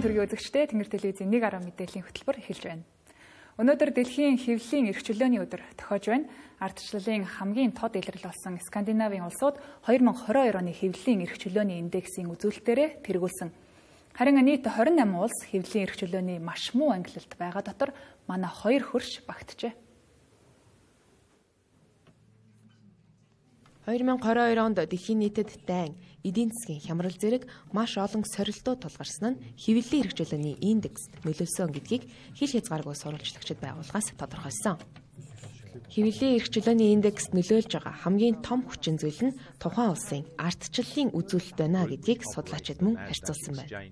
төргийн үзэгчдээ Тэнгэр телевизийн 1 мэдээллийн хөтөлбөр эхэлж байна. Өнөөдөр дэлхийн хэвлэлийн эрх чөлөөний өдөр тохиож байна. Ардчлалын хамгийн тод илрэл болсон Скандинавын улсууд 2022 оны хэвлэлийн эрх чөлөөний индексийн үзүүлэлтээрээ тэргүүлсэн. Харин нийт 28 улс хэвлэлийн эрх чөлөөний маш муу ангилалд байгаа дотор манай 2 хөрш багтжээ. 2022 онд дэлхийн нийтэд дайн, эдийн засгийн хямрал зэрэг маш олон сорилтууд тулгарсан нь хэвлэлийн эрх чөлөөний индекст нөлөөлсөн гэдгийг хил хязгааргүй сурвалжлагчид байгууллагаас тодорхойлсон. Хэвлэлийн эрх чөлөөний индекст нөлөөлж байгаа хамгийн том хүчин зүйл нь тухайн улсын ардчлалын үзүүлэлт байна гэдгийг судлаачид мөн харьцуулсан байна.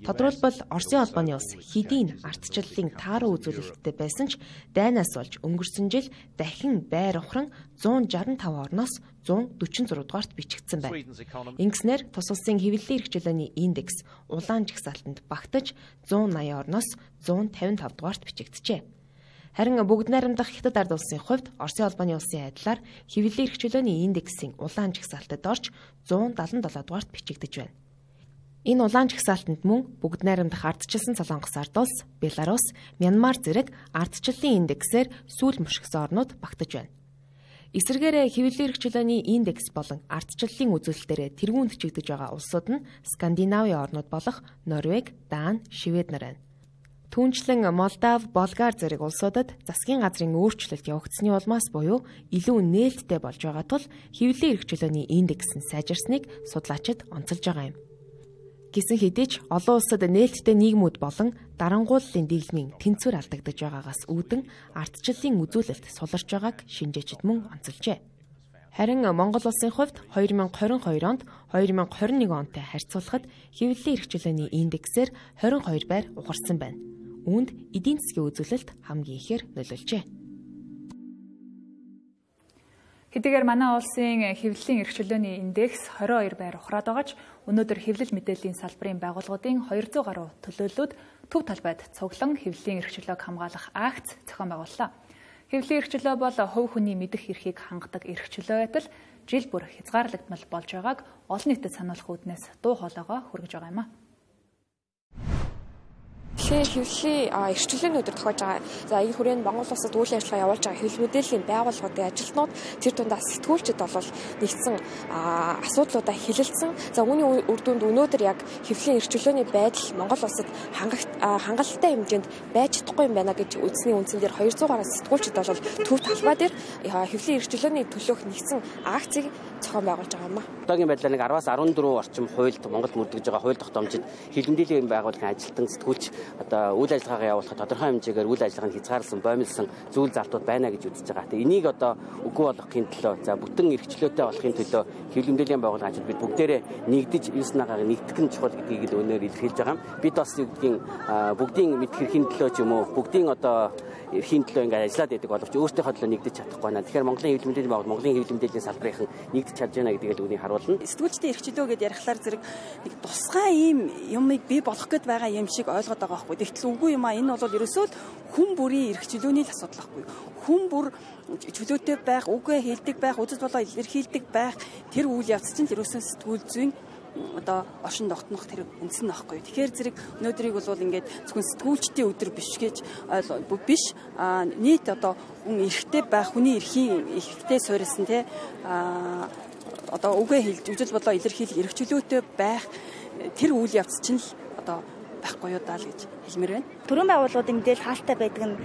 Тодорхойлбол Оросын холбооны улс хэдийн ардчлалын тааруу үзүүлэлттэй байсан ч дайнаас болж өнгөрсөн жил дахин байр ухран 165 орноос 146 дугаарт бичигдсэн байна. Ингэснээр тус улсын хэвлэлийн эрх чөлөөний индекс улаан жагсаалтанд багтаж 180 орноос 155 дугаарт бичигджээ. Харин бүгд найрамдах Хятад ард улсын хувьд Оросын холбооны улсын айдлаар хэвлэлийн эрх чөлөөний индексийн улаан жагсаалтад орж 177 дугаарт бичигдэж байна. Энэ улаан жагсаалтанд мөн бүгд найрамдах ардчилсан Солонгос ард улс, Беларусь, Мянмар зэрэг ардчлалын индексээр сүүл мушгсан орнууд багтаж байна. Эсвэргээр хэвлэлийн эрх чөлөөний индекс болон ардчлалын үзүүлэлтээр тэргүүнд чигдэж байгаа улсууд нь Скандинавын орнууд болох Норвеги, Дани, Швед нар байна. Түүнчлэн Молдав, Болгар зэрэг улсуудад засгийн газрын өөрчлөлт явагдсны улмаас буюу илүү нээлттэй болж байгаа тул хэвлэлийн эрх чөлөөний индекс нь сайжирсныг судлаачид онцолж байгаа юм. Гэсэн хэдий ч олон улсад нээлттэй нийгмүүд болон дарангууллын дэглэмийн тэнцвэр алдагдаж байгаагаас үүдэн ардчлалын үзүүлэлт суларч байгааг шинжээчид мөн онцолжээ. Харин Монгол улсын хувьд 2022 онд 2021 онтой харьцуулахад хэвлэлийн эрх чөлөөний индексээр 22 байр ухарсан байна. Үүнд эдийн засгийн үзүүлэлт хамгийн ихээр нөлөөлжээ. Хэдийгээр манай улсын хэвлэлийн эрх чөлөөний индекс 22 байр ухраад байгаа ч өнөөдөр хэвлэл мэдээллийн салбарын байгууллагуудын 200 гаруй төлөөллүүд төв талбайд цуглан хэвлэлийн эрх чөлөөг хамгаалах акц зохион байгууллаа. Хэвлэлийн эрх чөлөө бол хувь хүний мэдэх эрхийг хангадаг эрх чөлөө адил жил бүр хязгаарлагдмал болж байгааг олон нийтэд сануулах үүднээс дуу хоолойгоо хүргэж байгаа юм а. Хэвлэлийн эрх чөлөөний өдөр тохиож байгаа. За энэ хүрээнд Монгол улсад үйл ажиллагаа явуулж байгаа хэвлэл мэдээллийн байгууллагуудын ажилтнууд тэр дундаа сэтгүүлчид бол нэгдсэн асуудлуудаа хэлэлцсэн. За үүний үр дүнд өнөөдөр яг хэвлэлийн эрх чөлөөний байдал Монгол улсад хангалттай хэмжээнд байж чадахгүй юм байна гэж үзсний үндсэн дээр 200 гаруй сэтгүүлчид бол төв талбай дээр хэвлэлийн эрх чөлөөний төлөөх нэгдсэн акцийг зохион байгуулж байгаа юм а. Одоогийн байдлаар 10-аас 14 орчим хуульд Монголд мөрдөж байгаа хууль тогтоомжид хэвлэл мэдээллийн байгууллагын ажилтан сэтгүүлч одоо үйл ажиллагаагаа явуулахад тодорхой хэмжээгээр үйл ажиллагаанд хязгаарласан, боомлсон зүйл залтууд байна гэж үзэж байгаа. Тэгээ энийг одоо үгүй болгохын төлөө, за бүтэн эрх чөлөөтэй болохын төлөө хэвлэл мэдээллийн байгууллагын бид бүгдээрээ нэгдэж 9 нагааг нэгтгэх нь чухал гэдгийг л өнөөр илэрхийлж байгаа юм. Бид бас бүгдийн мэдэх эрхийн төлөө ч юм уу, бүгдийн одоо эрхийн төлөө ингээд ажиллаад байдаг боловч өөртөөхөө төлөө нэгдэж чадахгүй байна. Тэгэхээр Монголын хэвлэл мэдээллийн байгууллага, Монголын хэвлэл мэдээллийн салбарын нэгдэж чадж байна гэдгийг л үнийг харуулна. Сэтгүүлчдийн эрх чөлөө гэдээ ярихлаар зэрэг нэг тусгай ийм юмыг бий болгох гээд байгаа юм шиг ойлгоод байгаа байхгүй. Тэгтэл үгүй юм а. Энэ бол ерөөсөө хүн бүрийн эрх чөлөөний л асуудал байхгүй. Хүн бүр чөлөөтэй байх, үгээ хэлдэг байх, үзэл болоо илэрхийлдэг байх тэр үйл явц чинь ерөөсөө сэтгүүл зүйн одоо оршин тогтнох тэр үндсэн нөхгүй. Тэгэхээр зэрэг өнөөдрийг бол ингээд зөвхөн сэтгүүлчдийн өдөр биш гэж биш нийт одоо хүн эрхтэй байх, хүний эрхийн эрхтэй суурилсан те одоо үгээ хэлж үзэл болоо илэрхийлэх эрх чөлөөтэй байх тэр үйл явц чинь л одоо байхгүй юу даа л гэж хэлмээр байна. Төрийн байгууллагуудын мэдээлэл хаалттай байдаг нь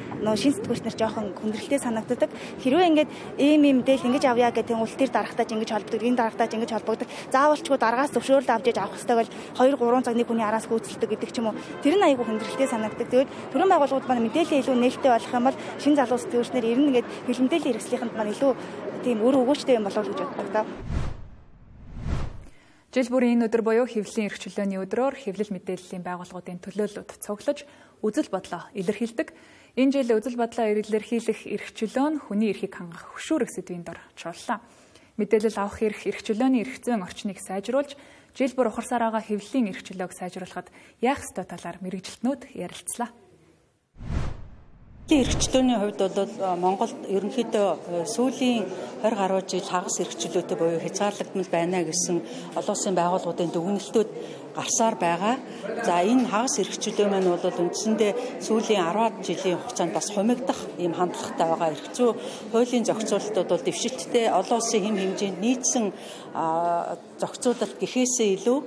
шин сэтгүүлч нар жоохон хүндрэлтэй санагддаг. Хэрвээ ингээд ийм мэдээлэл ингэж авъя гэдэг нь улс төр дарагтаач ингэж холбогддог, энэ дарагтаач ингэж холбогддог. Заавалчгүй дараагаас зөвшөөрөл авч иж авах хэрэгтэй бол 2-3 цаг нэг хүний араас гүйцэлдэг гэдэг ч юм уу. Тэр нь айгүй хүндрэлтэй санагддаг. Тэгвэл төрийн байгууллагууд маань мэдээлэл илүү нээлттэй болох юм бол шин залуу сэтгүүлчнэр ер нь ингээд хэвлэл мэдээллийн хэрэгслийнхэнд маань илүү тийм өр өгөөчтэй юм болов уу гэж боддог. Жил бүрийн энэ өдөр буюу хэвлэлийн эрх чөлөөний өдрөөр хэвлэл мэдээллийн байгууллагуудын төлөөллөд цуглаж үзэл бодлоо илэрхийлдэг. Энэ жил үзэл бодлоо илэрхийлэх эрх чөлөө нь хүний эрхийг хангах хөшүүрэг сэдвийн дор чууллаа. Мэдээлэл авах эрх чөлөөний эрх зүйн орчныг сайжруулж, жил бүр ухарсаар байгаа хэвлэлийн эрх чөлөөг сайжруулахад яах ёстой талаар мэргэжилтнүүд ярилцлаа. Эрхчлөөний хувьд бол Монголд ерөнхийдөө сүүлийн 20 гаруй жил хагас эрхчлөөтэй буюу хязгаарлагдмал байна гэсэн олон улсын байгууллагуудын дүгнэлтүүд гарсаар байгаа. За энэ хагас эрхчлөө маань бол үндсэндээ сүүлийн 10 жилийн хугацаанд бас хумигдах ийм хандлагатай байгаа. Эрх зүй хуулийн зохицуулалтууд бол дэвшилттэй олон улсын хэм хэмжээнд нийцсэн зохицуулалт гэхээсээ илүү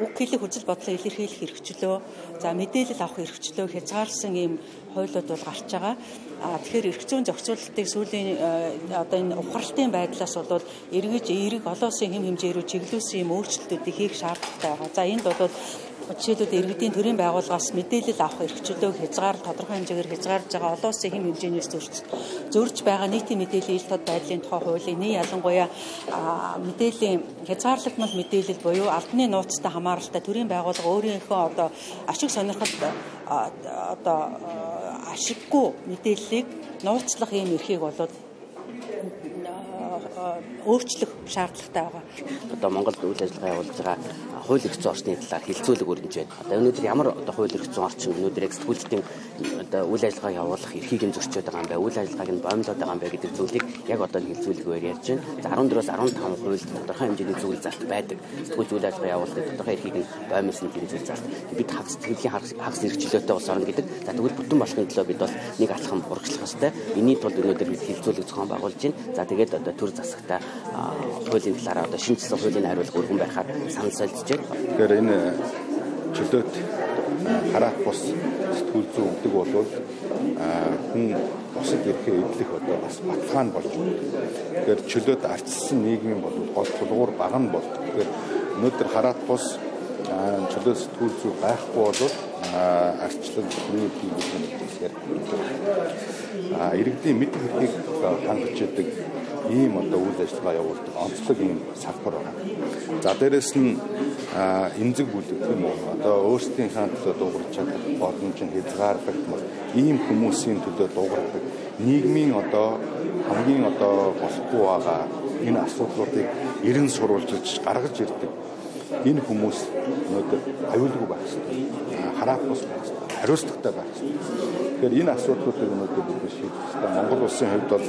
үг хэлэх үзэл бодлоо илэрхийлэх эрхчлөө, за мэдээлэл авах эрхчлөө хязгаарласан ийм хуулиуд бол гарч байгаа. Тэгэхээр эрх зүйн зохицуулалтыг сүүлийн энэ ухралтын байдлаас бол эргэж эерэг олон улсын хэм хэмжээ рүү чиглүүлсэн ийм өөрчлөлтүүдийг хийх шаардлагатай байгаа. За энд бол жишээлбэл иргэдийн төрийн байгууллагаас мэдээлэл авах эрхчлөөг тодорхой хэмжээгээр хязгаарлаж байгаа олон улсын хэм хэмжээнээс зөрж байгаа нийтийн мэдээллийн ил тод байдлын тухай хуулийн ялангуяа мэдээллийн хязгаарлагдмал мэдээлэл буюу албаны нууцтай хамааралтай төрийн байгууллага өөрийнхөө ашиг сонирхолд ашиггүй мэдээллийг нууцлах ийм эрхийг болоод өөрчлөх шаардлагатай байгаа. Одоо Монголд үйл ажиллагаа явуулж байгаа хууль эрх зүйн орчны талаар хилцүүлэг өрнөж байна. Одоо өнөөдөр ямар хууль эрх зүйн орчин өнөөдөр сэтгүүлчдийн үйл ажиллагаа явуулах эрхийг нь зөрчиж байгаа юм байна. Үйл ажиллагааг нь боомлоод байгаа юм байна гэдэг зүйлийг яг одоо хилцүүлэгээр ярьж байна. За 14-өөс 15 хуульд тодорхой хэмжээний зүйл зарт байдаг. Сэтгүүлч үйл ажиллагаа явуулахад тодорхой эрхийг нь боомлсон тийм зүйл зарт. Бид хагас эрхчлөөтэй улс орно гэдэг. За тэгвэл бүтэн болохын төлөө бид бол нэг алхам урагшлах ёстой. Энийний тулд өнөөдөр бид хилцүүлэг зохион байгуулж байна. За тэгээд одоо төр засагтай хуулийн талаараа одоо шинжилсэн хуулийн хариулга өргөн байхаар санал солилцож байна. Тэгэхээр энэ чөлөөт хараат бус сэтгүүл зүй өгдөг бол хүн бусад эрхээ эвлэх одоо бас баталгаа нь болж байна. Тэгэхээр чөлөөт арчилсан нийгмийн бол гол тулгуур бага нь бол. Тэгэхээр өнөөдөр хараат бус чөлөөт сэтгүүл зүй байхгүй бол арчлал нийт хийх иргэдийн мэдэх эрхийг хангаж идэг ийм одоо үйл ажиллагаа явуулдаг онцлог ийм салбар байна. За дээрэс нь эмзэг бүлэг тийм үү одоо өөрсдийнхээ төлөө дуугарч чадах боломж нь хязгаарлагдмал ийм хүмүүсийн төлөө дуугардаг нийгмийн одоо хамгийн одоо болохгүй байгаа энэ асуудлуудыг эрен сурвалжилж гаргаж ирдэг энэ хүмүүс өнөөдөр аюулгүй байх хэрэгтэй. Хараат бус байх хэрэгтэй. Хариуцлагатай байх хэрэгтэй. Тэгэхээр энэ асуудлуудыг өнөөдөр бид шийдэх хэрэгтэй. Монгол улсын хувьд бол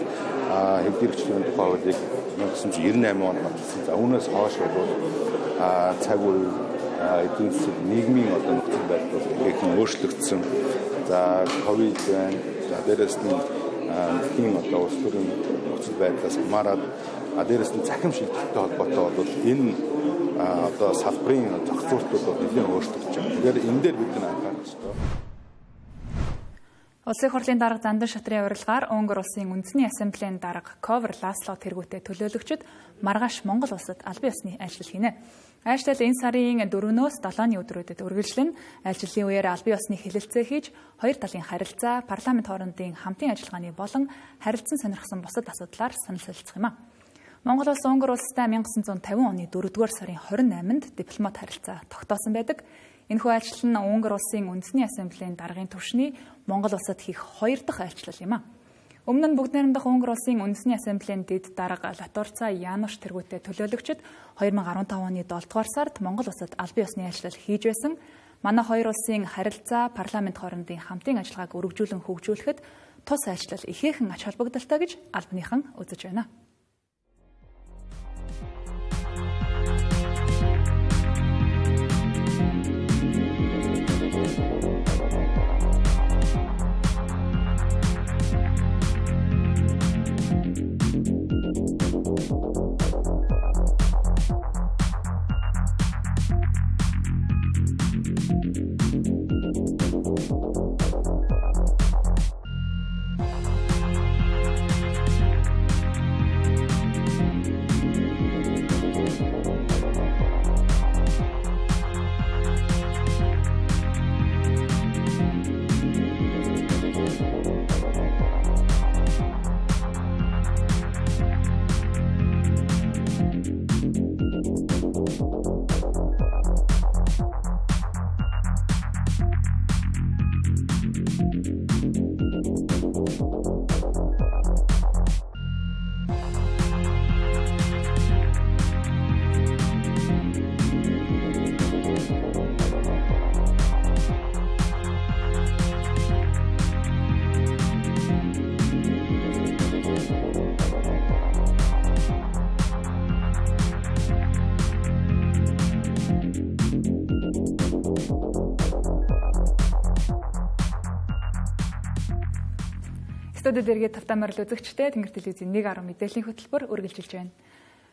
хэвлэл эрхчлөөний тухай хуулийг 1998 онд баталсан. За үүнээс хойш бол цаг үе эдийн засаг нийгмийн одоо нөхцөл байдал ихэнх өөрчлөгдсөн. За ковид байна. За дээрэс нь тийм одоо улс төрийн нөхцөл байдлаас хамаарат дээрэс нь захим шилжилттэй холбоотой бол энэ одоо салбарын зохицуултууд нэлээд өөрчлөгдөж байна. Тэгэхээр энэ дээр бид анхаарах ёстой. Улсын их хурлын дарга Зандан шатрын урилгаар Унгар улсын үндэсний ассамблеийн дарга Ковер Ласло тэргүүтээ төлөөлөгчд маргааш Монгол улсад албан ёсны айлчлал хийнэ. Айлчлал энэ сарын 4-өөс 7-ны өдрүүдэд үргэлжлэн айлчлалын үеэр албан ёсны хэлэлцээ хийж хоёр талын харилцаа, парламент хоорондын хамтын ажиллагааны болон харилцан сонирхсан бусад асуудлаар санал солилцох юм а. Монгол улс Унгар улстай 1950 оны 4-р сарын 28-нд дипломат харилцаа тогтоосон байдаг. Энэхүү айлчлал нь Унгар улсын үндэсний ассамблеийн даргын түвшний Монгол улсад хийх 2 дахь айлчлал юм а. Өмнө нь бүгд найрамдах Унгар улсын үндэсний ассамблеийн дэд дарга Латурца Януш тэргүүтээ төлөөлөгчд 2015 оны 7-р сард Монгол улсад албан ёсны айлчлал хийж байсан. Манай хоёр улсын харилцаа, парламент хоорондын хамтын ажиллагааг өргөжүүлэн хөгжүүлэхэд тус айлчлал ихээхэн ач холбогдолтой гэж албаныхан үзэж байна. Студид иргэд тавтамарл үзэгчтэй Тэнгэр телевизийн 1.10 мэдээллийн хөтөлбөр үргэлжилж байна.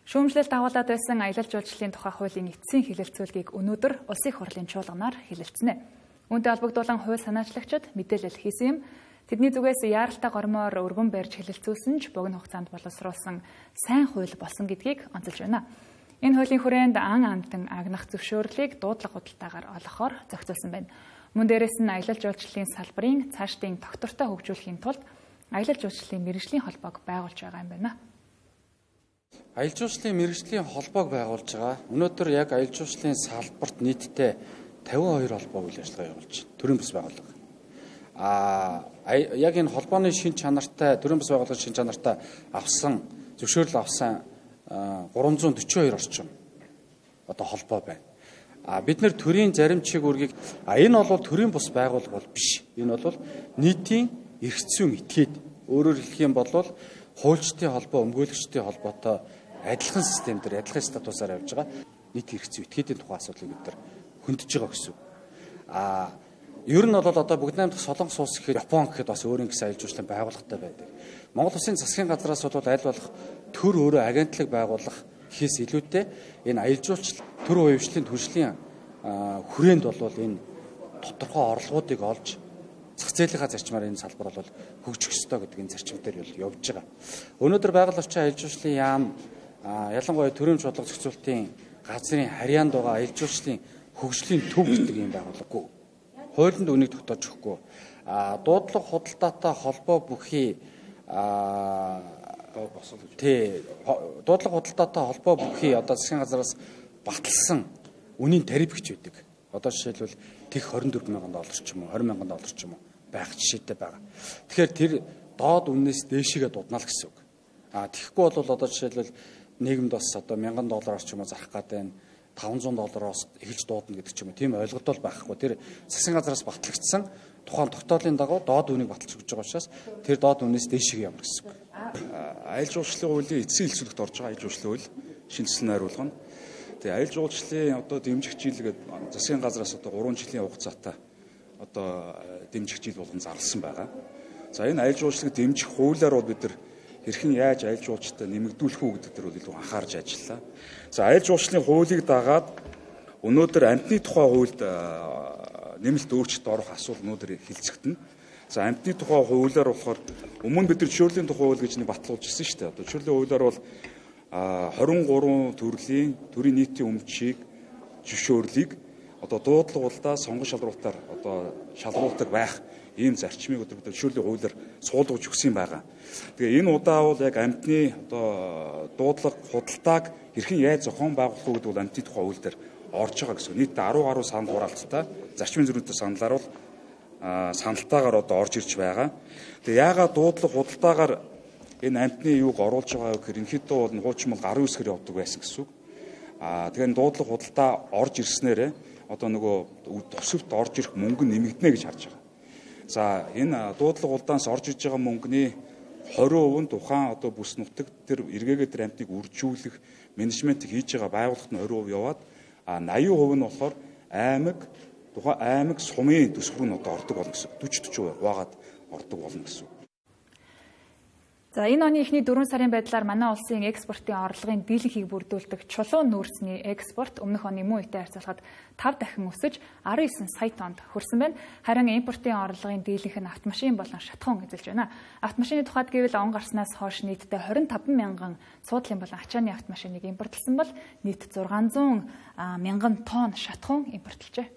Шүүмжлэлт агуулад байсан аялал жуулчлалын тухай хуулийн эцсийн хэлэлцүүлгийг өнөөдөр Улсын их хурлын чуулганаар хэлэлцэнэ. Үүнтэй холбогдуулан хууль санаачлагчид мэдээлэл хийсэн юм. Тэдний зүгээс яаралтай гормоор өргөн барьж хэлэлцүүлсэн ч богино хугацаанд боловсруулсан сайн хууль болсон гэдгийг онцолж байна. Энэ хуулийн хүрээнд ан амтан агнах зөвшөөрлийг дуудлага худалдаагаар олгохоор зохицуулсан байна. Мөн дээрээс нь аялал жуулчлалын салбарын цаашдын тогтвортой хөгжүүлэхийн тулд аялал жуулчлалын мэргэжлийн холбоог байгуулж байгаа юм байна. Аялал жуулчлалын мэргэжлийн холбоог байгуулж байгаа. Өнөөдөр яг аялал жуулчлалын салбарт нийтдээ 52 холбоо үйл ажиллагаа явуулж байна. Төрийн бас байгууллага. Яг энэ холбооны шин чанартай төрийн бас байгууллагын шин чанартай авсан зөвшөөрөл авсан 342 орчим одоо холбоо байна. Бид нэр төрийн заримчиг үргийг энэ бол төрийн бус байгууллага бол биш. Энэ бол нийтийн эрх зүйн этгээд. Өөрөөр хэлэх юм бол хуульчдын холбоо, өмгөөлөгчдийн холбоотой адилхан системээр, адилхан статусаар явж байгаа нийт эрх зүйн этгээдийн тухай асуудлыг бид нар хөндөж байгаа гэсэн. Ер нь бол одоо бүгд найрамдах Солонгос улс гэхэд Япон гэхэд бас өөрийн гэсэн аялал жуулчлалын байгууллагатай байдаг. Монгол Улсын засгийн газраас бол аль болох төр өөрөө агентлаг байгуулах гэхээс илүүтэй энэ аялал жуулчлал төр хувьчлалын төршлийн хүрээнд бол энэ тодорхой орлогуудыг олж зах зээлийнхаа зарчмаар энэ салбар бол хөгжих ёстой гэдэг энэ зарчим дээр явж байгаа. Өнөөдөр байгаль орчин аялал жуулчлалын яам ялангуяа төрийн бодлого зохицуулалтын газрын харьяанд байгаа аялал жуулчлалын хөгжлийн төв гэдэг юм байгууллагагүй. Хуулинд үнийг тогтоож өгөхгүй. Дуудлага худалдаатай холбоо бүхий дуудлага худалдаатай холбоо бүхий одоо засгийн газраас баталсан үнийн тариф гэж байдаг. Одоо жишээлбэл тэг $24,000 ч юм уу, $20,000 ч юм уу байх жишээтэй байгаа. Тэгэхээр тэр доод үннээс дээшээгээ дуудана л гэсэн үг. Тэгэхгүй бол одоо жишээлбэл нийгэмд бас одоо $1,000 ч юм уу зарах гэдэг нь $500-оос эхэлж дуудана гэдэг ч юм уу. Тийм ойлголт бол байхгүй. Тэр засгийн газраас батлагдсан тухайн тогтоолын дагуу доод үнийг баталж өгч байгаа учраас тэр доод үннээс дээшээгээ явна гэсэн үг. Аялал жуулчлалын хуулийн эцсийн хэлцүүлэгт орж байгаа аялал жуулчлалын хууль шинжилсэн найруулга нь тэгээ аялал жуулчлалын одоо дэмжих жил гэдэг засгийн газраас одоо 3 жилийн хугацаатай одоо дэмжих жил болгон зарласан байгаа. За энэ аялал жуулчлалыг дэмжих хуулиар бол бид нар хэрхэн яаж аялал жуулчлалтай нэмэгдүүлэх үү гэдэг дээр бол илүү анхаарч ажиллалаа. За аялал жуулчлалын хуулийг дагаад өнөөдөр амьтны тухай хуульд нэмэлт өөрчлөлт орох асуудал өнөөдөр хэлцэгдэнэ. За амьтны тухай хуулиар болохоор өмнө бид нар жишүүрлийн тухай хууль гэж нэг баталгуулж ирсэн шүү дээ. Одоо жишүүрлийн хуулиар бол 23 төрлийн нийтийн өмчийг зөвшөөрлийг одоо дуудлага улдаа сонгон шалралтаар одоо шалруулдаг байх ийм зарчмыг өдөр жишүүрлийн хуулиар суулгаж өгсөн байгаа. Тэгээ энэ удаа бол яг амьтны одоо дуудлага худалдааг хэрхэн яаж зохион байгуулах вэ гэдэг бол амьтны тухай хууль дээр орж байгаа гэсэн. Нийт 10 гаруй санал хураалттай зарчмын зөрүүтэй саналаар бол саналтаагаар одоо орж ирж байгаа. Тэгээ яагаад дуудлага худалдаагаар энэ амьтны юуг оруулж байгаа гэхээр ерөнхийдөө бол хуучин бол 19 хэрэг явдаг байсан гэсэн үг. Тэгэхээр дуудлага худалдаа орж ирснээр одоо нөгөө тусавт орж ирэх мөнгө нэмэгдэнэ гэж харж байгаа. За энэ дуудлага худалдаанаас орж ирж байгаа мөнгөний 20% нь тухайн одоо бүс нутаг тэр эргээгээ тэр амьтныг үржүүлэх менежментийг хийж байгаа байгууллагт нь 20% яваад 80% нь болохоор тухайн аймаг сумын төсвөр нь одоо ордог болно гэсэн. 40-40% хуваагаад ордог болно гэсэн. За энэ оны эхний 4 сарын байдлаар манай улсын экспортын орлогын дийлэнхийг бүрдүүлдэг чулуун нүүрсний экспорт өмнөх оны мөн үетэй харьцуулахад 5 дахин өсөж 19 сая тоннд хүрсэн байна. Харин импортын орлогын дийлэнх нь автомашин болон шатхуун эзэлж байна. Автомашины тухайд гэвэл он гарснаас хойш нийтдээ 25 мянган суудлын болон ачааны автомашиныг импортлсон бол нийт 600 мянган тонн шатхуун импортлжээ.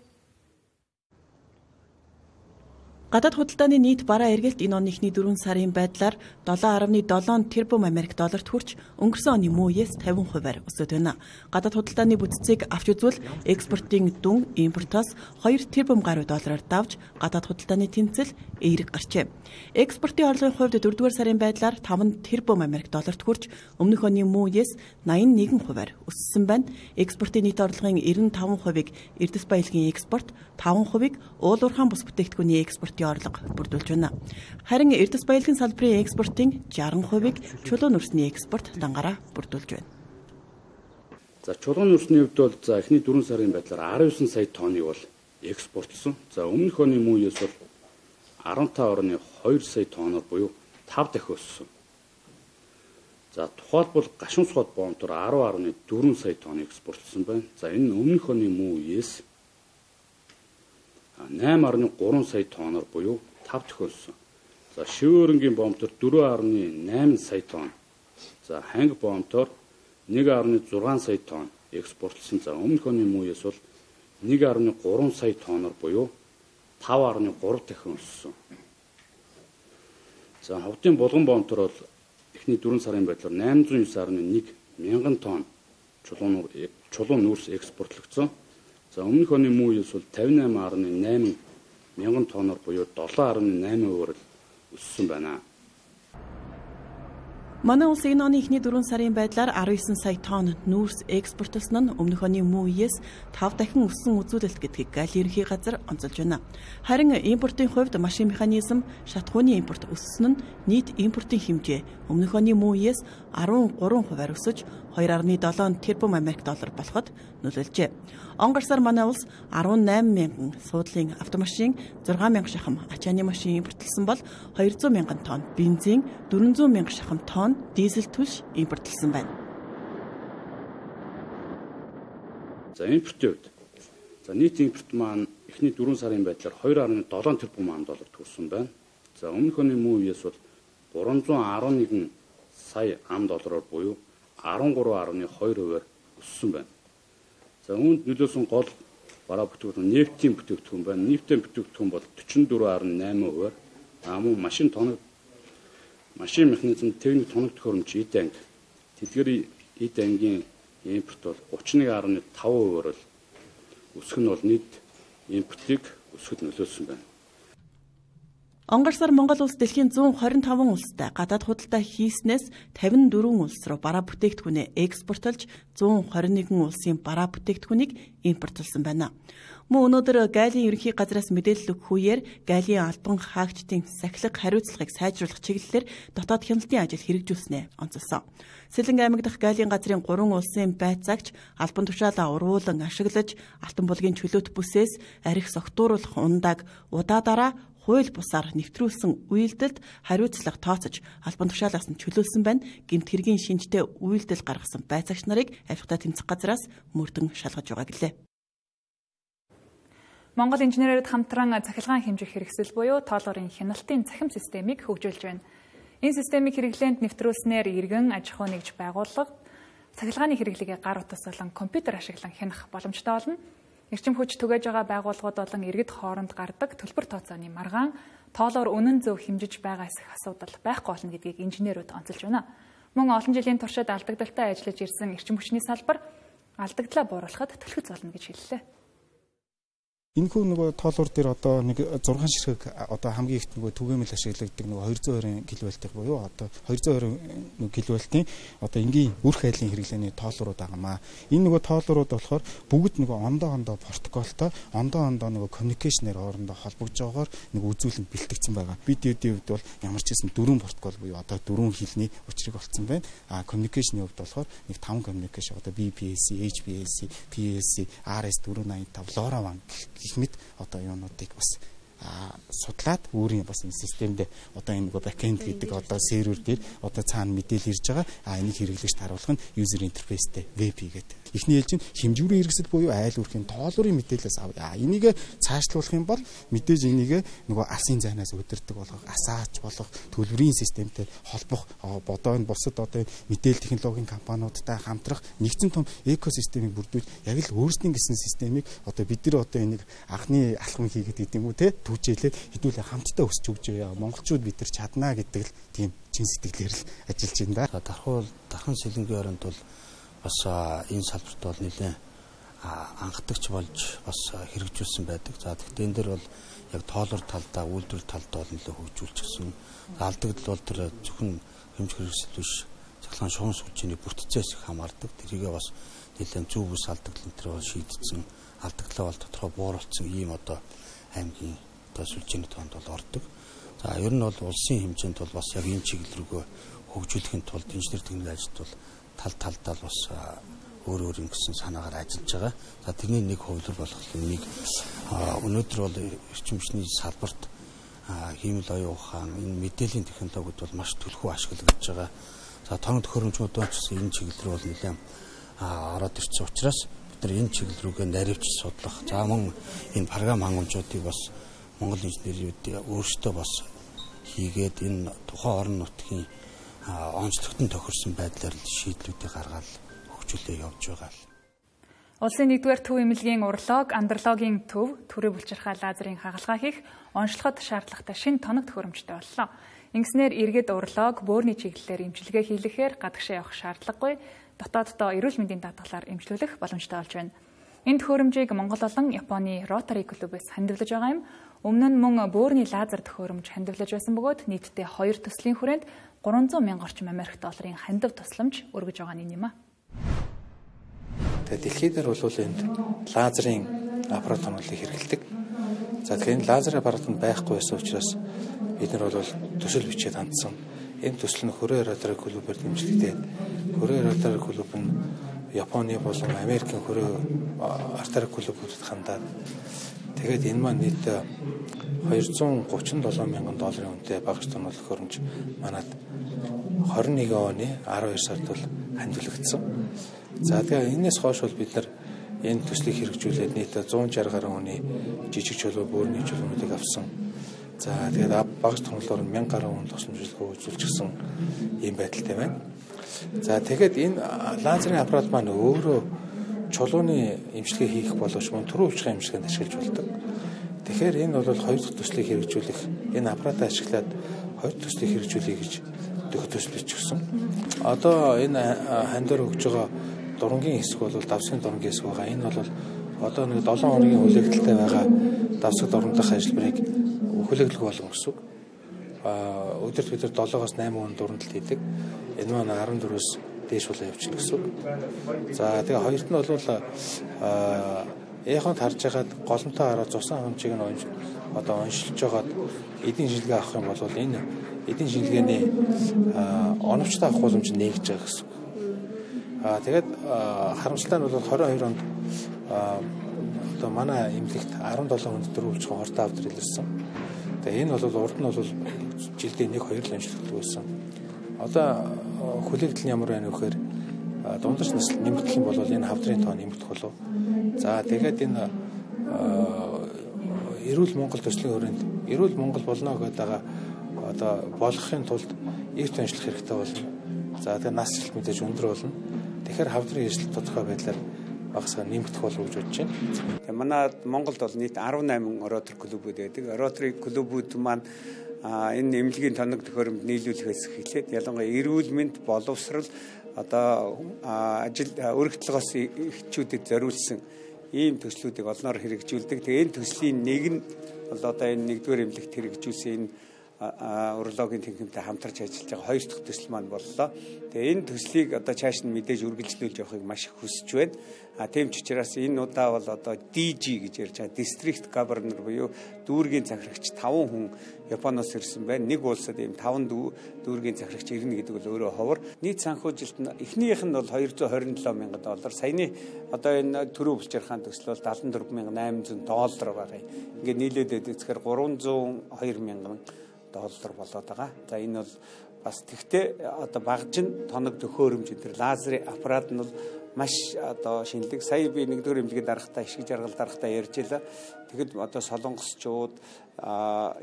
Гадаад худалдааны нийт бараа эргэлт энэ оны эхний 4 сарын байдлаар $7.7 тэрбум Америк долларт хүрч өнгөрсөн оны мөн үеэс 50% өсөд байна. Гадаад худалдааны бүтцийг авч үзвэл экспортын дүн импортоос 2 тэрбум гаруй доллараар давж гадаад худалдааны тэнцэл эерэг гарчээ. Экспортын орлогын хувьд 4-р сарын байдлаар 5 тэрбум Америк долларт хүрч өмнөх оны мөн үеэс 81% өссөн байна. Экспортын нийт орлогын 95%-ийг эрдэс баялагын экспорт, 5%-ийг уул уурхайн бус бүтээгдэхүүний экспорт орлого бүрдүүлж байна. Харин эрдэс баялагын салбарын экспортын 60%-ийг чулуун нүүрсний экспорт дангаараа бүрдүүлж байна. За чулуун нүүрсний хувьд бол за эхний 4 сарын байдлаар 19 сая тонныг бол экспортлсон. За өмнөх оны мөн үеэс бол 15.2 сая тонноор буюу 5 дахин өссөн. За тухайлбал гашуун сууд боомтор 10.4 сая тонн экспортлсон байна. За энэ өмнөх оны мөн үеэс 8.3 сая тонноор буюу 5 дахин өссөн. За шивөөрөнгийн боомтор 4.8 сая тонн. За ханги боомтор 1.6 сая тонн экспортлсон. За өмнөх оны мөн үеэс бол 1.3 сая тонноор буюу 5.3 дахин өссөн. За ховдын булган боомтор бол эхний 4 сарын байдлаар 809.1 мянган тонн чулуун нүүрс экспортлогдсон. За өмнөх оны мөн үеэс бол 58.8 мянган тонноор буюу 7.8% өссөн байна. Манай улс энэ оны эхний 4 сарын байдлаар 19 сая тонн нүүрс экспортлсон нь өмнөх оны мөн үеэс 5 дахин өссөн үзүүлэлт гэдгийг Галийн ерөнхий газар онцолж байна. Харин импортын хувьд машин механизм, шатхууны импорт өссөн нь нийт импортын хэмжээ өмнөх оны мөн үеэс 13% өсөж 2.7 тэрбум Америк доллар болоход нөлөөлжээ. Он гарсаар манай улс 18 мянган суудлын автомашин, 6 мянга шахам ачааны машин импортлсон бол 200 мянган тонн бензин, 400 мянга шахам тонн дизель түлш импортлсон байна. За импортын хувьд нийт импорт маань эхний 4 сарын байдлаар 2.7 тэрбум доллар төрсөн байна. За өмнөх оны мөн үеэс бол 311 сая доллараар буюу 13.2% өссөн байна. За үүнд нөлөөсөн гол бараа бүтээгдэхүүн нефтийн бүтээгдэхүүн байна. Нефтийн бүтээгдэхүүн бол 44.8%. Мөн машин механизм, техник тоног төхөөрөмж эд анги, тэдгээр эд ангийн импорт бол 31.5%-аар өсөх нь бол нийт импортыг өсгөхөд нөлөөлсөн байна. Он гарсаар Монгол улс дэлхийн 125 улстай гадаад худалдаа хийснээс 54 улс руу бараа бүтээгдэхүүнээ экспортлж 121 улсын бараа бүтээгдэхүүнийг импортлсон байна. Мөн өнөөдөр Галийн ерөнхий газраас мэдээлэл өгөх үеэр Галийн албан хаагчдын сахилга хариуцлагыг сайжруулах чиглэлээр дотоод хяналтын ажил хэрэгжүүлснээ онцолсон. Сэлэнг аймаг дахь Галийн газрын 3 улсын байцаагч албан тушаалаа урвуулан ашиглаж алтан булгийн чөлөөт бүсээс арх согтууруулах ундааг удаадараа хууль бусаар нэвтрүүлсэн үйлдэлд хариуцлага тооцож албан тушаалаас нь чөлөөлсөн байна. Гэмт хэргийн шинжтэй үйлдэл гаргасан байцаагч нарыг авилгатай тэмцэх газраас мөрдөн шалгаж байгаа гэлээ. Монгол инженерүүд хамтран цахилгаан хэмжих хэрэгсэл буюу тоолгорын хяналтын цахим системийг хөгжүүлж байна. Энэ системийг хэрэглээнд нэвтрүүлснээр иргэн аж ахуй нэгж байгууллага цахилгааны хэрэглэгээ гар утас болон компьютер ашиглан хянах боломжтой болно. Эрчим хүч түгээж байгаа байгууллагууд болон иргэд хооронд гардаг төлбөр тооцооны маргаан тоолоор үнэн зөв хэмжиж байгаа эсэх асуудал байхгүй болно гэдгийг инженерүүд онцолж байна. Мөн олон жилийн туршид алдагдaltaй ажиллаж ирсэн эрчим хүчний салбар алдагдлаа бууруулахад төлөвлөж болно гэж хэллээ. Энэхүү нөгөө тоолуур дээр одоо нэг 6 ширхэг одоо хамгийн ихт нөгөө түгээмэл ашиглагддаг нөгөө 220 кВт буюу одоо 220 кВт-ийн одоо энгийн үрх айлын хэрэглээний тоолуурууд байгаамаа. Энэ нөгөө тоолуурууд болохоор бүгд нөгөө ондоо протоколтой ондоо нөгөө коммуникейшнээр хоорондоо холбогдож байгаагаар нөгөө үзүүлэлт бэлтгэгдсэн байгаа. Видеодын хувьд бол ямар ч хэсэн 4 протокол буюу одоо 4 хэлний учрыг олцсон байна. Коммуникейшний хувьд болохоор нэг 5 коммуникейшн одоо BPSC, HPLC, PLC, RS485, LoRaWAN гэх мэт одоо юунуудыг бас судлаад өөрийн бас энэ системд одоо энэ нөгөө бэкэнд гэдэг одоо сервер дээр одоо цаана мэдээлэл ирж байгаа. Энийг хэрэглэгчд харуулах нь user interfaceтэй web гэдэг. Эхний хэлж нь хэмжүүрийн хэрэгсэл буюу айл үүрхийн тоолуурын мэдээлэлээс авъя. Энийг цаашлуулах юм бол мэдээж энийг нөгөө алсын зайнаас өдөрдөг болгох, асаач болох төлбөрийн системтэй холбох бодоо энэ бусад одоо мэдээлэл технологийн компаниудтай хамтрах нэгэн том экосистемийг бүрдүүлж яг л өөрсдийн гэсэн системийг одоо бид нар одоо энийг анхны алхам хийгээд гэдэг юм уу те түүжээлээ хэдүүлээ хамтдаа өсч өгч яваа. Монголчууд бид нар чаднаа гэдэг л тийм чин сэтгэлээр л ажиллаж байна да. Дархан сэлэнгийн оронд бол бас энэ салбарт бол нэлээд анхдагч болж бас хэрэгжүүлсэн байдаг. За тэгэхээр энэ дэр бол яг тоолор талдаа, үйлдвэр талдаа бол нэлээд хөгжүүлчихсэн. Алдагдал бол тэр зөвхөн хэмжих хэрэгсэл биш, цахилгаан шугам сүлжээний бүтцээс их хамаардаг. Тэрийгээ бас нэлээд зөв бүс алдагдал энэ төр бол шийдсэн. Алдагдлаа бол тодорхой бууруулсан ийм одоо аймгийн одоо сүлжээний тоонд бол ордог. За ер нь бол улсын хэмжээнд бол бас яг энэ чиглэл рүүгээ хөгжүүлэхийн тулд инженер техникийн ажилд бол талдаа бас өөр ингэсэн санаагаар ажиллаж байгаа. За тэрний нэг хувилбар болох нэг өнөөдөр бол эрчим хүчний салбарт хиймэл оюун ухаан, энэ мэдээллийн технологиуд бол маш түлхүү ашиглагдж байгаа. За тоног төхөөрөмжүүд ч энэ чиглэл рүү бол нэлээд ороод ирсэн учраас бид нар энэ чиглэл рүүгээ наривч судлах. За мөн энэ програм хангамжуудыг бас Монгол инженерүүд өөрсдөө бас хийгээд энэ тухайн орон нутгийн онцлогтон тохирсон байдлаар шийдлүүдийг гаргаад хөгжүүлээ явж байгаа. Улсын 1-р төв эмнэлгийн уролог, андрологийн төв, төрөө булчирхай лазерын хагалгаа хийх онцлогод шаардлагатай шинэ тоног төхөөрөмжтэй боллоо. Ингэснээр иргэд уролог, бөөрийн чиглэлээр эмчилгээ хийлгэхээр гадагшаа явах шаардлагагүй, дотооддоо эрүүл мэндийн даатгалаар эмчлүүлэх боломжтой болж байна. Энэ төхөөрөмжийг Монгол болон Японы Rotary клубээс хандивлаж байгаа юм. Өмнө нь мөн бөөрийн лазер төхөөрөмж хандивлаж байсан бөгөөд нийтдээ 2 төслийн хүрээнд 300 мянган орчим Америк долларын хандив тусламж өргөж байгаа нь юм а. Дэлхийд дээр бол энд лазерын аппарат хонголыг хэрэглэдэг. За тэгэхээр энэ лазер аппарат нь байхгүй байсан учраас бид нар бол төсөл бичээд хандсан. Энэ төсөл нь Хүрээ Rotary клубээр дэмжигдээд Хүрээ Rotary клуб нь Японы болон Америкийн Хүрээ Rotary клубүүдэд хандаад тэгээд энэ маань нийт 237 мянган долларын үнэтэй багаж тоног төхөөрөмж манад 21 оны 12 сард бол хандивлагдсан. За тэгээ энэс хойш бол бид нар энэ төслийг хэрэгжүүлээд нийт 160 гаруй хүний жижиг чулуу бөөрийн чулуунуудыг авсан. За тэгээд багаж тонглоор 1000 гаруй хүн тусламжлага үзүүлчихсэн ийм байдалтай байна. За тэгээд энэ лазерын аппарат маань өөрөө чулууны эмчилгээ хийх боловч мөн төрөө булчирхай эмчилгээнд ашиглаж болдог. Тэгэхээр энэ бол 2 дахь төслийг хэрэгжүүлэх, энэ аппаратаа ашиглаад 2 дахь төслийг хэрэгжүүлэе гэж төсөл бичсэн. Одоо энэ хандаар өгж байгаа дурангийн хэсэг бол давсгийн дурангийн хэсэг байгаа. Энэ бол одоо нэг 7 хоногийн хүлээлттэй байгаа давсаг дурандах ажиллбарыг хүлээглэх болгоно гэсэн үг. Өдөрт бид нар 7-оос 8 хүн дурандалт хийдэг. Энэ маань 14-өөс дээш болоо явчихна гэсэн үг. За тэгээ хоёрт нь бол эхонд харж байгаад голомтой хараад цусан хэмжээг нь оншилж байгаад эдийн шинжилгээ авах юм бол энэ эдийн шинжилгээний оновчтой авах боломж нээгж байгаа гэсэн үг. Тэгээд харамсалтай нь бол 22 онд одоо манай эмнэлэгт 17 хүнд дөрвөлж хортой авдар илэрсэн. Тэгээ энэ бол урд нь бол жилдээ 1-2 л амжилттай байсан. Одоо хүлээлт нь ямар байна вэ гэхээр дундаж насл нэмэгдэх юм бол энэ хавдрын тоо нэмэгдэх болов. За тэгээд энэ эрүүл Монгол төслийн хүрээнд эрүүл Монгол болно гэдэг одоо болгохын тулд эрт онцлох хэрэгтэй болно. За тэгээд нас жилт мэдээж өндөр болно. Тэгэхээр хавдрын эрсдэл тодорхой байдлаар багасгаар нэмэгдэх болов гэж бодож байна. Тэгээ манай Монголд бол нийт 18 Rotary клубүүд байдаг. Rotary клубүүд маань энэ эмнэлгийн тоног төхөөрөмж нийлүүлэхээс эхлээд ялангуяа эрүүл мэнд боловсрал одоо ажил өргөдлөгөөс эхчүүдэд зориулсан ийм төслүүдийг олноор хэрэгжүүлдэг. Тэгээ энэ төслийн нэг нь бол одоо энэ 1-р эмнэлэгт хэрэгжүүлсэн энэ урологийн техниктэй хамтарч ажиллаж байгаа 2 дахь төсөл маань боллоо. Тэгээ энэ төслийг одоо цааш нь мэдээж үргэлжлүүлж явахыг маш их хүсэж байна. Тийм ч учраас энэ удаа бол одоо DG гэж ярьж байгаа District Governor буюу дүүргийн захирагч 5 хүн Японоос ирсэн байна. Нэг улсад ийм 5 дүүргийн захирагч ирнэ гэдэг бол өөрөө ховор. Нийт санхүүжилт нь эхнийх нь бол 227 мянган доллар. Саяны одоо энэ төрөө булчирхаан төсөл бол 74,800 доллар байгаа. Ингээд нийлээд үзэхээр 302 мянган доллар болоод байгаа. За энэ бол бас тэгтээ одоо багжин тоног төхөөрөмж энэ лазерын аппарат нь бол маш одоо шинэлэг. Сая би 1-р эмнэлгийн дарагтай ишиг жаргал дарагтай ярьж байлаа. Тэгэхэд одоо солонгосчууд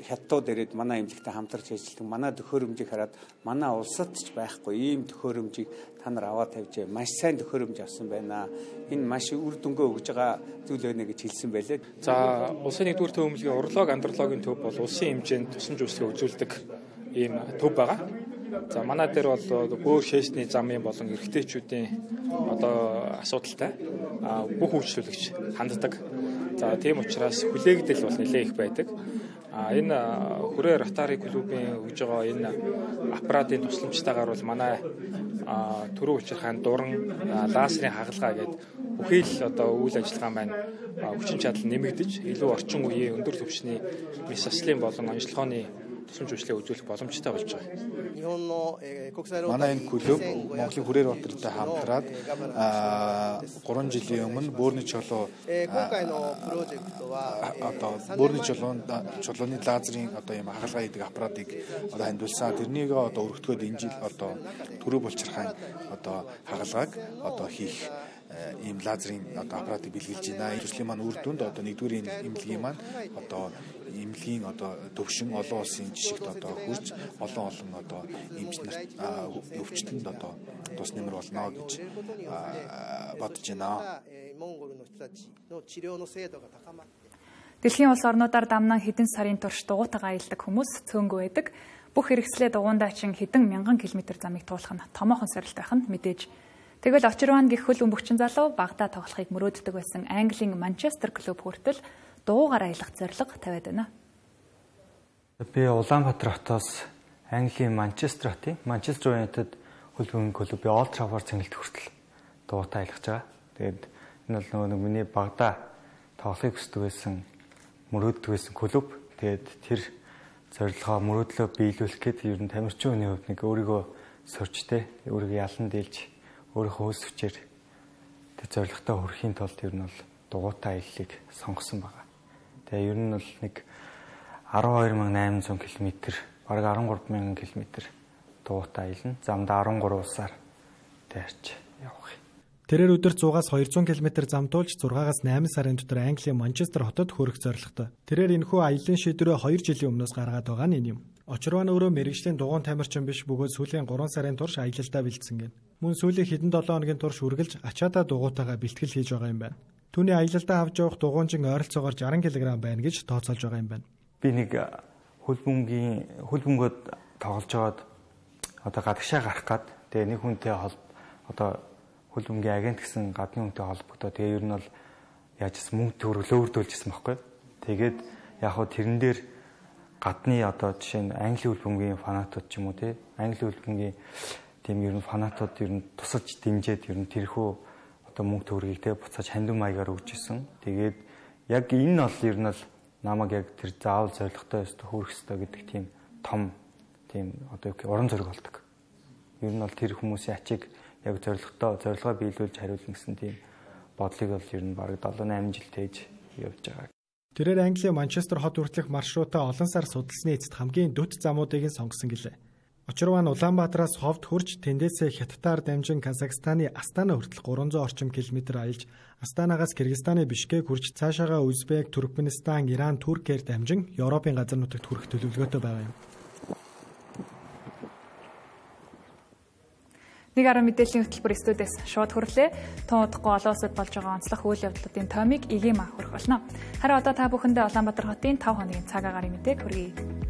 хятадууд ирээд манай эмнэлэгтэй хамтарч ажилладаг. Манай төхөөрөмжийг хараад манай улсад ч байхгүй ийм төхөөрөмжийг та нар аваад тавьжээ. Маш сайн төхөөрөмж авсан байна. Энэ маш үр дүнгээ өгж байгаа зүйл байна гэж хэлсэн байлээ. За улсын 1-р төв эмнэлгийн уролог андрологийн төв бол улсын хэмжээнд тусламж үйлчлэг үзүүлдэг ийм төв байгаа. За манай дээр бол бөөр шээсний замын болон эрэгтэйчүүдийн одоо асуудалтай бүх үйлчлүүлэгч ханддаг. За тийм учраас хүлээгдэл бол нэлээд их байдаг. Энэ Хүрээ Rotary клубын өгж байгаа энэ аппаратын тусламжтайгаар бол манай төрөө булчирхаан дуран лазерын хагалгаа гэдэг бүхий л одоо үйл ажиллагаа маань хүчин чадал нэмэгдэж илүү орчин үеийн өндөр түвшний мис заслын болон онцлогооны тусламж үйлчлэгээ үзүүлэх боломжтой болж байгаа. Манай энэ клуб Монголын Хүрээр Батартай хамтраад 3 жилийн өмнө бөөрийн чулуу одоо бөөрийн чулууны лазерын одоо юм хагалгаа хийдэг аппаратыг одоо хандуулсан. Тэрнийг одоо өргөтгөөд энэ жил одоо төрөө булчирхайн одоо хагалгааг одоо хийх ийм лазерын одоо аппаратыг бэлгэлж байна. Төслийн маань үр дүнд одоо нэгдүгээр эмнэлгийн маань одоо эмнэлгийн одоо төвшин олон улсын жишгт одоо хүрч олон одоо эмч нарт өвчтөнд одоо тус нэмэр болно гэж бодож байна. Дэлхийн улс орнуудаар дамнан хэдэн сарын турш дугуйтайгаа аялдаг хүмүүс цөөнгөө байдаг. Бүх хэрэгслээ дугуйндаа чин хэдэн мянган километр замыг туулах нь томоохон сорилт байх нь мэдээж. Тэгвэл очирван гэх хөл бөмбөгчин залуу багада тоглохыг мөрөөддөг байсан Английн Манчестер клуб хүртэл дуугаар аялах зорилго тавиад байна. Би Улаанбаатар хотоос Английн Манчестер хотын Манчестер Юнайтед хөлбөмбөгийн клубын Олд Траффорд цэнгэлт хүртэл дуутай аялах байгаа. Тэгээд энэ бол нөгөө миний багада тоглохыг хүсдэг байсан мөрөөддөг байсан клуб. Тэгээд тэр зорилгоо мөрөөдлөө биелүүлэх гээд ер нь тамирчин хүний хувьд нэг өөрийгөө сорчтэй, өөрийгөө ялан дийлж өөрийнхөө хөөс хүчээр тэр зорилготой хүрэхийн тулд ер нь бол дугуйтай аяллыг сонгосон байгаа. Тэгээ ер нь бол нэг 12800 км, бараг 13000 км дугуйтай аялна. Замдаа 13 улсаар таарч явах юм. Тэрээр өдөр 100-аас 200 км замтуулж 6-аас 8 сарын дотор Английн Манчестер хотод хүрэх зорилготой. Тэрээр энэхүү аяллаа шийдвэрээ 2 жилийн өмнөөс гаргаад байгаа нь энэ юм. Очирван өөрөө мэргэжлийн дугуйн тамирчин биш бөгөөд сүүлийн 3 сарын турш аялалдаа бэлдсэн гэн. Мөн сүүлийн хэдэн 7 хоногийн турш үргэлж ачаатаа дугуйтайгаа бэлтгэл хийж байгаа юм байна. Түүний аялалдаа авч явах дугуйнжин ойролцоогоор 60 кг байна гэж тооцоолж байгаа юм байна. Би нэг хөлбөмбөгөд тоглож байгаад одоо гадагшаа гарах гад тэгээ нэг хүнтэй одоо хөлбөмбөгийн агент гэсэн гадны хүнтэй холбогдоо тэгээ ер нь бол яажсэн мөнгө төгрөг өөрдүүлжсэн байхгүй. Тэгээд яг хөө тэрэн дээр гадны одоо жишээ нь Англи хөлбөмбөгийн фанатууд ч юм уу тий Англи хөлбөмбөгийн тийм ер нь фанатууд ер нь тусаж дэмжиж ер нь тэрхүү одоо мөнгө төгрөгийг тий буцааж хандив маягаар өгч исэн. Тэгээд яг энэ нь бол ер нь бол намайг яг тэр заавал зоригтой өстө хүрэх ёстой гэдэг тийм том тийм одоо уран зориг болдог. Ер нь бол тэр хүмүүсийн ачиг яг зорилгоо биелүүлж хариулна гэсэн тийм бодлыг бол ер нь бараг 7-8 жил тээж явж байгаа. Тэрээр Английн Манчестер хот хүртэлх маршрутаа олон сар судалсны эцэст хамгийн дөт замуудыг сонгосон гэлээ. Очирван Улаанбаатараас ховд хурж тэндээсээ Хятадаар дамжин Казахстаны Астана хүртэл 300 орчим километр аялж Астанагаас Кыргызстаны Бишкек хүрч цаашаага Узбек, Туркменистан, Иран, Туркээр дамжин Европын газар нутагт хүрэх төлөвлөгөөтэй байгаа юм. Нэг арга мэдээллийн хөтөлбөр студиэс шууд хүрлээ. Тун удахгүй олон улсад болж байгаа онцлог үйл явдлуудын томыг ИГМ хүргэх болно. Харин одоо та бүхэндээ Улаанбаатар хотын 5 хоногийн цаг агарын мэдээг хүргэе.